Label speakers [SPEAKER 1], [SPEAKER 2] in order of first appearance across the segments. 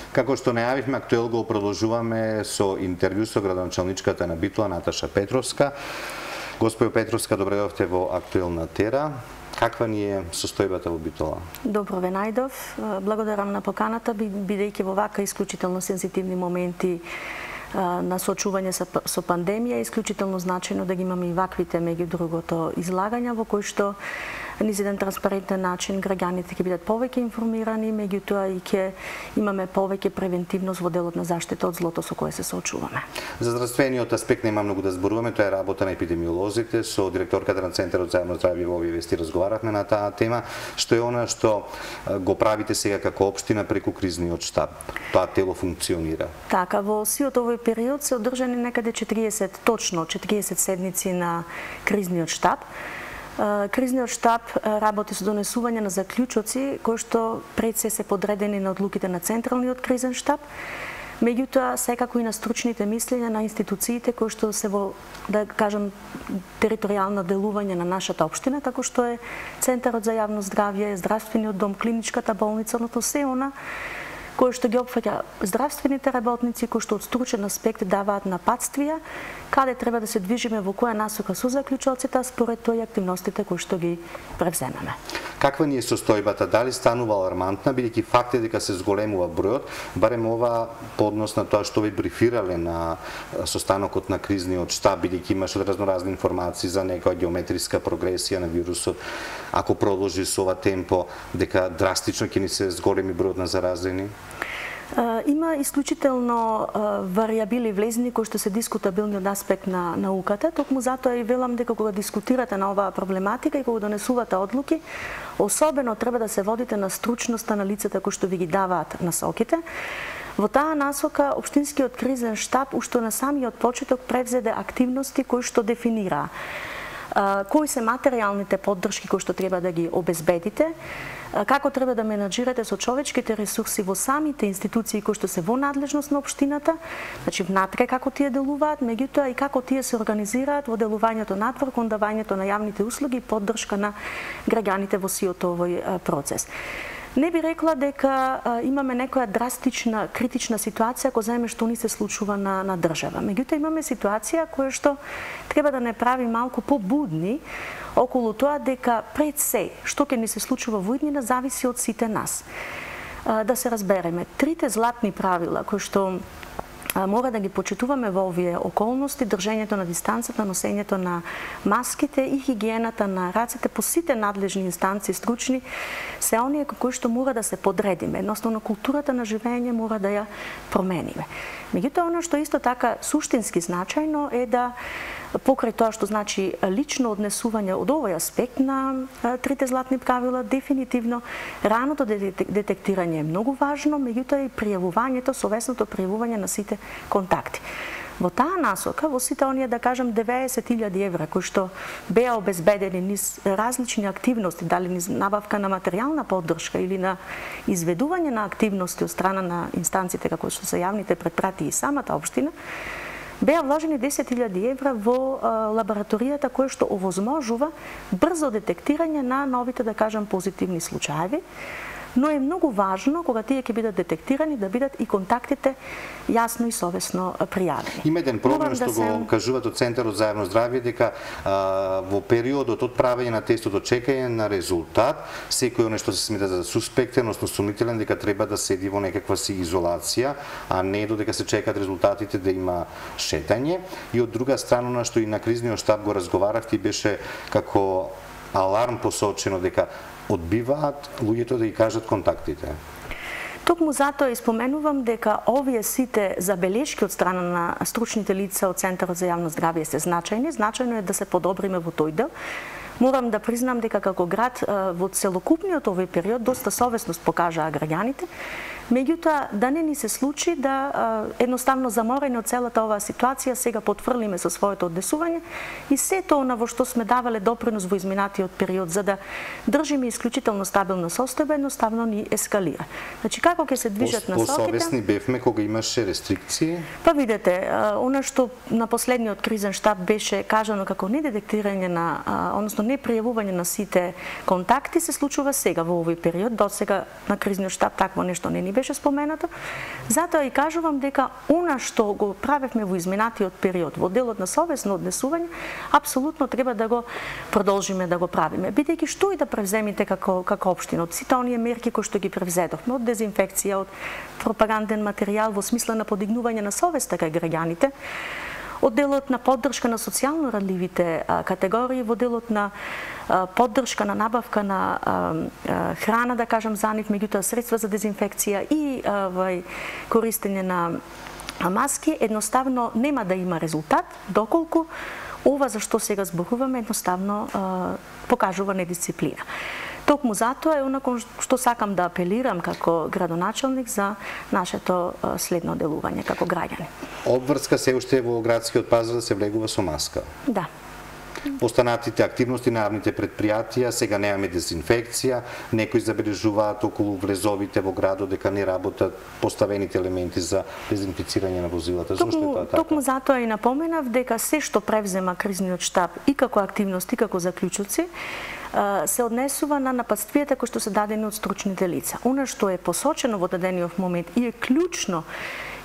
[SPEAKER 1] Како што најавивме, актуел го продолжуваме со интервју со градоначалничката на Битола Наташа Петровска. Господјо Петровска, добре дојдовте во Актуел на Тера. Каква ни е состојбата во Битола?
[SPEAKER 2] Добро ве најдов. Благодарам на поканата, бидејќи во вака исклучително сензитивни моменти на соочување со пандемија, е исклучително значајно да ги имаме и ваквите, меѓу другото, излагања во кои што низ еден транспарентен начин граѓаните ќе бидат повеќе информирани, меѓутоа и ќе имаме повеќе превентивност во делот на заштита од злото со кое се соочуваме.
[SPEAKER 1] За здравствениот аспект нема многу да зборуваме, тоа е работа на епидемиолозите. Со директорката на Центарот за јавно здравје во овие вести разговаравме на таа тема. Што е она што го правите сега како општина преку кризниот штаб? Тоа тело функционира.
[SPEAKER 2] Така, во сиот овој период се одржани некаде 40 седници на кризниот штаб. Кризниот штаб работи со донесување на заклучоци кои што пред се подредени на одлуките на Централниот кризен штаб, меѓутоа секако и на стручните мислења на институциите кои што се во, да кажам, територијално делување на нашата општина, како што е Центарот за јавно здравје, здравствениот дом, клиничката болница, односно се она кои што ги опфаќа здравствените работници, кои што од стручен аспект даваат напатствија, каде треба да се движиме, во која насока со заклучоците, според тоа и активностите кои што ги превземаме.
[SPEAKER 1] Каква ни е состојбата? Дали станува алармантна, бидејќи факт е дека се зголемува бројот, барем ова по однос на тоа што ви брифирале на состанокот на кризниот штаб, бидејќи имаше разноразни информации за некоја геометриска прогресија на вирусот, ако продолжи со ова темпо, дека драстично ќе ни се зголеми бројот на заразени?
[SPEAKER 2] Има исклучително варијабили влезни кои што се дискутабилни од аспект на науката. Токму затоа и велам дека кога дискутирате на оваа проблематика и кога донесувате одлуки, особено треба да се водите на стручноста на лицата кои што ви ги даваат насоките. Во таа насока, Општинскиот кризен штаб уште на самиот почеток превзеде активности кои што дефинираа кои се материјалните поддршки кои што треба да ги обезбедите, како треба да менаџирате со човечките ресурси во самите институции кои што се во надлежност на општината, значи внатре како тие делуваат, меѓутоа и како тие се организираат во делувањето надвор кон давањето на јавните услуги и поддршка на граѓаните во сиот овој процес. Не би рекла дека имаме некоја драстична, критична ситуација која земе што ни се случува на држава. Меѓутоа имаме ситуација која што треба да не прави малку побудни околу тоа дека пред се што ќе ни се случува во иднина зависи од сите нас. Да се разбереме, трите златни правила кои што мора да ги почитуваме во овие околности, држењето на дистанцата, носењето на маските и хигиената на рацете по сите надлежни инстанции стручни, се оние кои што мора да се подредиме. Едноставно културата на живење мора да ја промениме. Меѓутоа, оно што исто така суштински значајно е да покрај тоа што значи лично однесување од овој аспект на трите златни правила, дефинитивно раното детектирање е многу важно, меѓутоа и пријавувањето, совесното пријавување на сите контакти. Во таа насока, во сите оние, да кажам, 90.000 евра кои што беа обезбедени низ различни активности, дали низ набавка на материјална поддршка или на изведување на активности од страна на инстанциите како што се јавните предпрати и самата општина, беа вложени 10.000 евра во лабораторијата која што овозможува брзо детектирање на новите, да кажам, позитивни случаеви, но е многу важно кога тие ќе бидат детектирани да бидат и контактите јасно и совесно пријавени.
[SPEAKER 1] Има еден проблем што го кажуваат од Центарот за јавно здравје дека во периодот од правење на тестот до чекање на резултат, секој оне што се смета за суспектен, односно сумнителен, дека треба да седи во некаква си изолација, а не додека се чекаат резултатите да има шетање. И од друга страна, на што и на кризниот штаб го разговаравте, беше како аларм посочено дека одбиваат луѓето да ги кажат контактите.
[SPEAKER 2] Токму затоа испоменувам дека овие сите забелешки од страна на стручните лица од Центарот за јавно здравје се значајни. Значајно е да се подобриме во тој дел. Морам да признам дека како град во целокупниот овој период доста совесност покажаа граѓаните, меѓутоа да не ни се случи да едноставно заморени од целата оваа ситуација сега потврлиме со своето однесување и сето она во што сме давале допринос во изминатиот период за да држиме исклучително стабилна состојба едноставно ни ескалира. Значи како ќе се движат насоките?
[SPEAKER 1] Посовесни бевме кога имаше рестрикции?
[SPEAKER 2] Па видете, она што на последниот кризен штаб беше кажано како недетектирање на, односно не пријавување на сите контакти се случува сега во овој период. До сега на кризниот штаб такво нешто не ни беше споменато. Затоа и кажувам дека она што го правевме во изминатиот период во делот на совесно однесување, апсолутно треба да го продолжиме да го правиме. Бидејќи што и да превземите како општина, од сите оние мерки кои што ги превзедовме, од дезинфекција, од пропаганден материјал во смисла на подигнување на совеста кај граѓаните, од делот на поддршка на социјално радливите категории, во делот на поддршка на набавка на храна, да кажам, за нив, меѓутоа средства за дезинфекција и користење на маски, едноставно нема да има резултат, доколку ова за што сега зборуваме едноставно покажува недисциплина. Токму затоа е онако што сакам да апелирам како градоначелник за нашето следно делување како граѓани.
[SPEAKER 1] Обврска се уште во градскиот пазар да се влегува со маска.
[SPEAKER 2] Да.
[SPEAKER 1] Останатите активности на јавните предпријатија, сега немаме дезинфекција, некои забележуваат околу влезовите во градот дека не работат поставените елементи за дезинфицирање на возилата. Зошто е тоа така?
[SPEAKER 2] Токму затоа и напоменав дека се што превзема кризниот штаб и како активности, како заклучоци, се однесува на нападствијата кои што се дадени од стручните лица. Она што е посочено во дадениот момент и е клучно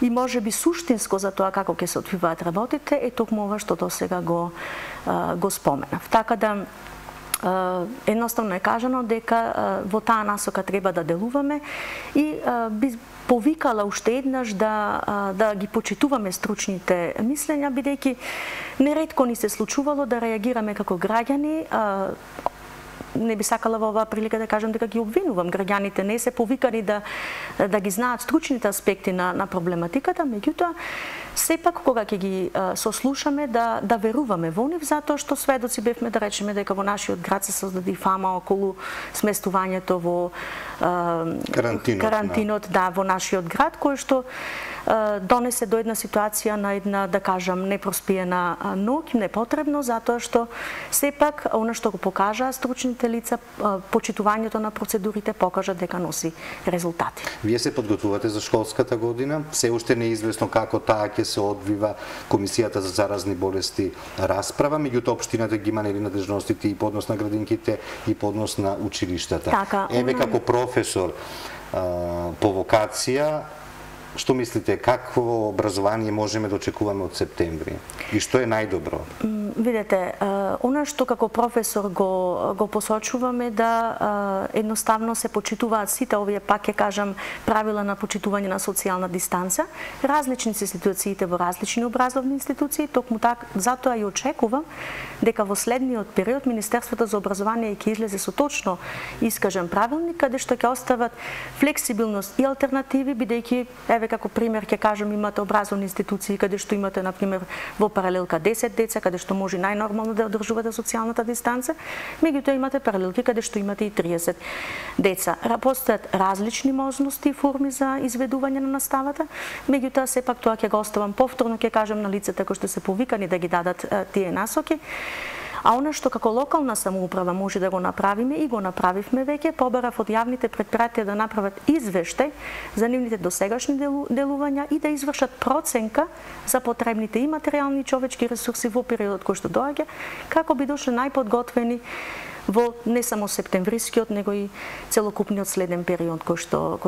[SPEAKER 2] и може би суштинско за тоа како ќе се одвиваат работите е токму ова што досега го споменав. Така да едноставно е кажано дека во таа насока треба да делуваме и би повикала уште еднаш да ги почитуваме стручните мислења, бидејќи неретко ни се случувало да реагираме како граѓани. Не би сакала во оваа прилика да кажам дека ги обвинувам. Граѓаните не се повикани да ги знаат стручните аспекти на проблематиката, меѓутоа сепак кога ќе ги сослушаме да веруваме во нив, затоа што сведоци бевме да речеме дека во нашиот град се создаде фама околу сместувањето во карантинот, да, во нашиот град, кој што донесе до една ситуација на една, да кажам, непроспиена ноќ, непотребно, затоа што сепак она што го покажаа стручните лица, почитувањето на процедурите покажа дека носи резултати.
[SPEAKER 1] Вие се подготвувате за школската година, се уште не е известно како таа ќе се одвива Комисијата за заразни болести расправа, меѓутоа општината ги има нели надлежностите и по однос на градинките и по однос на училиштата.
[SPEAKER 2] Така,
[SPEAKER 1] еве како професор по вокација, што мислите, какво образование можеме да очекуваме од септември? И што е најдобро?
[SPEAKER 2] Видете, она што како професор го посочуваме да едноставно се почитуваат сите овие, пак ќе кажам, правила на почитување на социјална дистанца, различни се ситуациите во различни образовни институции, токму така, затоа и очекувам дека во следниот период Министерството за образование ќе излезе со точно искажен правилник каде што ќе остават флексибилност и алтернативи, бидејќи еве како пример ќе кажам, имате образовни институции каде што имате на пример во паралелка 10 деца каде што може најнормално да одржувате социјалната дистанца, меѓутоа имате паралелки каде што имате и 30 деца. Постојат различни можности и форми за изведување на наставата, меѓутоа сепак тоа ќе го оставам повторно, ќе кажам на лицата кои што се повикани да ги дадат тие насоки. А она што како локална самоуправа може да го направиме и го направивме веќе, побарав од јавните предпријатија да направат извештај за нивните досегашни делувања и да извршат проценка за потребните и материјални и човечки ресурси во периодот кој што доаѓа, како би дошле најподготвени во не само септемврискиот, него и целокупниот следен период кој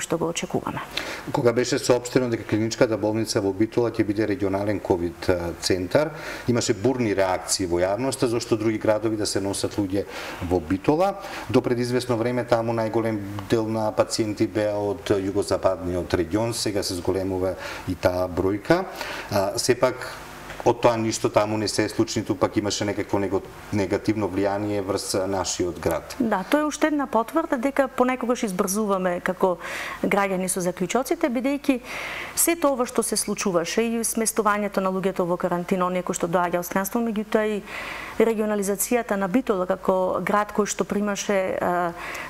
[SPEAKER 2] што го очекуваме.
[SPEAKER 1] Кога беше соопштено дека клиничката болница во Битола ќе биде регионален ковид центар, имаше бурни реакции во јавноста зашто други градови да се носат луѓе во Битола. До пред известно време таму најголем дел на пациенти беа од југозападниот регион, сега се зголемува и таа бројка. Сепак од тоа ништо таму не се случи, пак имаше некакво негативно влијание врз нашиот град. Да,
[SPEAKER 2] тоа е уште една потврда дека понекогаш избрзуваме како граѓани со заклучоците, бидејќи сето ова што се случуваше и сместувањето на луѓето во карантина, оние кои што доаѓа од странство, меѓутоа и регионализацијата на Битола како град кој што примаше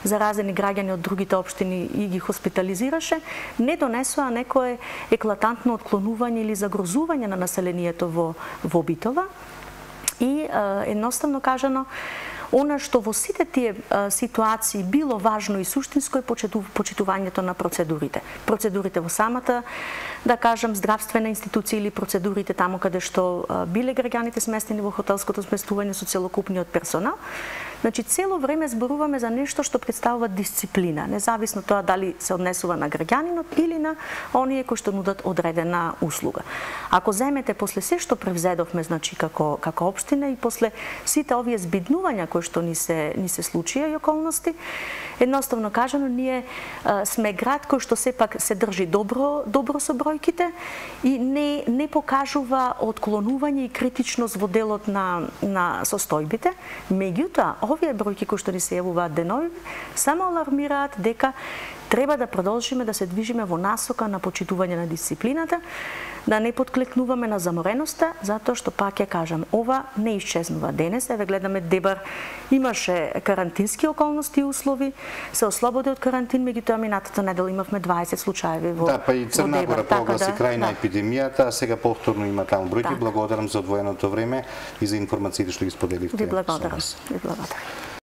[SPEAKER 2] заразени граѓани од другите општини и ги хоспитализираше, не донесоа некое еклатантно отклонување или загрозување на населението во Битола и едноставно кажано она што во сите тие ситуации било важно и суштинско е почитувањето на процедурите. Процедурите во самата, да кажам, здравствена институција или процедурите таму каде што биле граѓаните сместени во хотелското сместување со целокупниот персонал, Значи цело време зборуваме за нешто што представува дисциплина, независно тоа дали се однесува на граѓанинот или на оние кои што нудат одредена услуга. Ако земете после се што превзедовме, значи како општина и после сите овие збиднувања кои што ни се случија и околности, едноставно кажано ние сме град кој што сепак се држи добро со бројките и не покажува отклонување и критичност во делот на состојбите. Меѓутоа, овие бројки кои што ни се јавуваат денови само алармираат дека треба да продолжиме да се движиме во насока на почитување на дисциплината, да не подклекнуваме на замореноста, затоа што пак ја кажам, ова не исчезнува денес. Еве гледаме Дебар имаше карантински околности и услови, се ослободи од карантин, меѓутоа минатата недела имавме 20 случаи во
[SPEAKER 1] Да, па и Црна Гора прогласи крај на епидемијата, а сега повторно има таму бројки. Благодарам за одвоеното време и за информациите што ги споделивте.
[SPEAKER 2] Ви благодарам.